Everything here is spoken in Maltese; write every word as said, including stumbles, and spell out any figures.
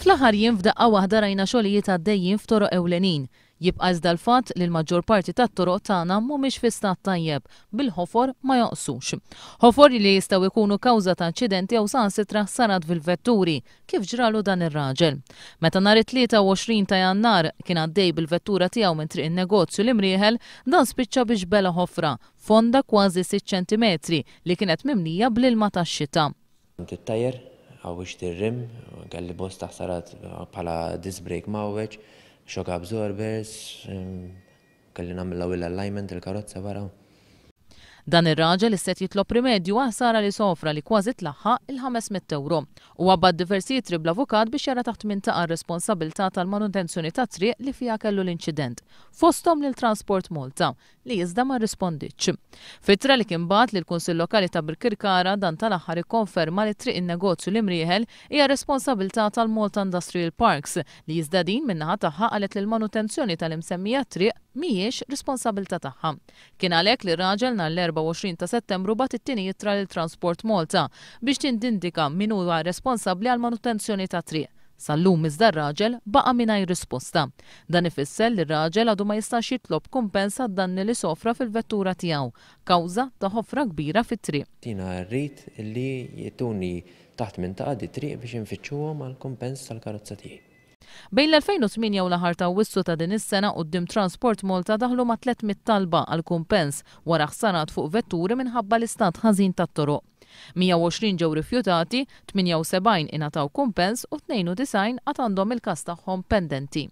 Fl-aħħar jiem f'daqqa waħda rajna xogħlijiet għaddejjin f'toroq ewlenin. Jibqa' iżda l-fatt li l-maġġor parti tat-toroq tagħna mhumiex fi stat tajjeb, bil-ħofor ma jonqsux. Ħofor li jistgħu jkunu kawża ta' inċidenti jew saħansitra ħsarat fil-vetturi, kif ġralu dan ir-raġel. Meta nhar it-tlieta u għoxrin ta' Jannar kien għaddej bil-vettura tiegħu minn Triq in-Negozju l-Imrieħel, dan spiċċa biex bela ħofra, fonda kważi sitt ċentimetri li kienet mimlija bl-ilma tax-xita. Tittajjer, għawix tirrim, kelli bosta ħsarat bħala disc brake mawweġ, shock absorbers, kelli nagħmel wheel alignment il-karozza wara. Dan ir-raġel isset jitlob rimedju għal ħsara li sofra li kważi tlaħħaq il-ħames mitt euro. Huwa bagħat diversi ittri bl-avukat biex jara taħt min taqa' r-responsabilità tal-manutenzjoni ta' triq li fiha kellu l-inċident, fosthom lil Transport Malta, li iżda ma rrisponditx. F'ittra li kien bagħat lill-Kunsill Lokali ta' Birkirkara, dan tal-aħħar ikkonferma li Triq in-Negozju l-Imrieħel hija responsabilità tal-Malta Industrial Parks, li iżda din min-naħa tagħha qalet li l-manutenzjoni tal-imsemmija triq mhijiex responsabilità tagħha. Kien għalhekk li r-raġel nhar l-erbgħa u għoxrin ta' Settembru bagħat it-tieni ittra lil Transport Malta biex tindindika min huwa responsabbli għal manutenzjoni ta' triq. Sal-lum iżda r-raġel baqa' mingħajr risposta. Dan ifisser li r-raġel għadu ma jistax jitlob kumpens għad-danni li sofra fil-vettura tiegħu, kawża ta' ħofra kbira fit-triq. Jiena rrid li jtuni taħt minn taqa' di triq biex infittxuhom għal kumpens tal-karozza tiegħi. Bejn l-elfejn u tmienja u l-aħħar ta' Awwissu ta' din is-sena quddiem Transport Malta daħlu ma' tliet mitt talba għal kumpens wara ħsarat fuq vetturi minħabba l-istat ħażin tat-toroq. Mija u għoxrin ġew rifjutati, tmienja u sebgħin ingħataw kumpens u tnejn u disgħin għad għandhom il-każ tagħhom pendenti.